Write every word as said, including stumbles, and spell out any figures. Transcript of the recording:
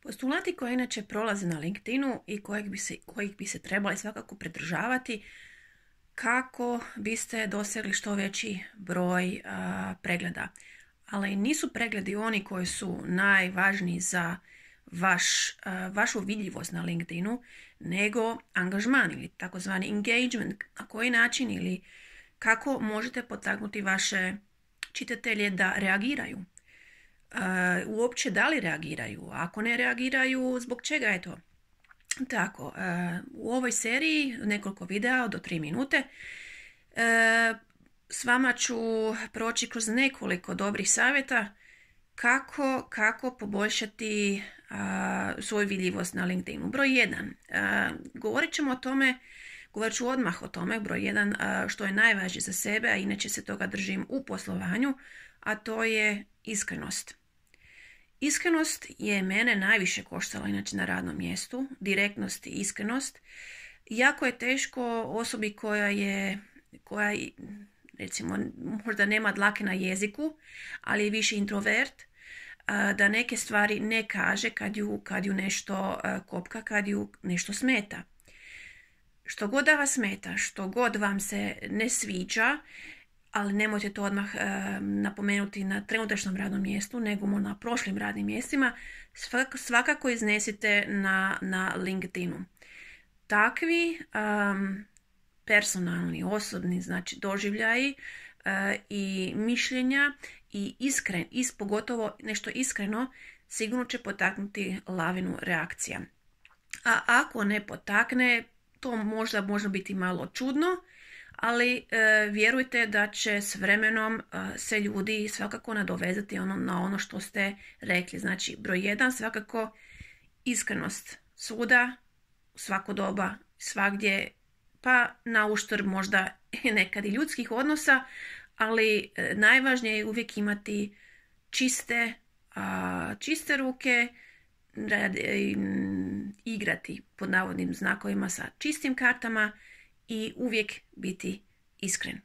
Postulati koji inače prolaze na LinkedInu i kojih bi se, kojih bi se trebali svakako pridržavati kako biste dosegli što veći broj a, pregleda. Ali nisu pregledi oni koji su najvažniji za vaš, a, vašu vidljivost na LinkedInu, nego angažman ili takozvani engagement, na koji način ili kako možete potaknuti vaše čitatelje da reagiraju. Uh, uopće da li reagiraju, ako ne reagiraju, zbog čega je to tako. Uh, u ovoj seriji nekoliko videa do tri minute uh, s vama ću proći kroz nekoliko dobrih savjeta kako, kako poboljšati uh, svoju vidljivost na LinkedInu. Broj jedan, uh, govorit ćemo o tome, govorit ću odmah o tome, broj jedan, uh, što je najvažnije za sebe, a inače se toga držim u poslovanju, a to je iskrenost. Iskrenost je mene najviše koštala inače na radnom mjestu, direktnost i iskrenost. Jako je teško osobi koja je, koja recimo možda nema dlake na jeziku, ali je više introvert, da neke stvari ne kaže kad ju, kad ju nešto kopka, kad ju nešto smeta. Što god da vas smeta, što god vam se ne sviđa, ali nemojte to odmah e, napomenuti na trenutačnom radnom mjestu, nego na prošlim radnim mjestima, svakako, svakako iznesite na, na LinkedInu. Takvi um, personalni, osobni, znači doživljaji e, i mišljenja i iskren, is, pogotovo nešto iskreno, sigurno će potaknuti lavinu reakcija. A ako ne potakne, to možda može biti malo čudno, ali e, vjerujte da će s vremenom e, se ljudi svakako nadovezati ono, na ono što ste rekli. Znači, broj jedan, svakako iskrenost svuda, svako doba, svagdje, pa na uštrb možda nekad i ljudskih odnosa, ali e, najvažnije je uvijek imati čiste, a, čiste ruke, rad, e, igrati pod navodnim znakovima sa čistim kartama i uvijek biti iskren.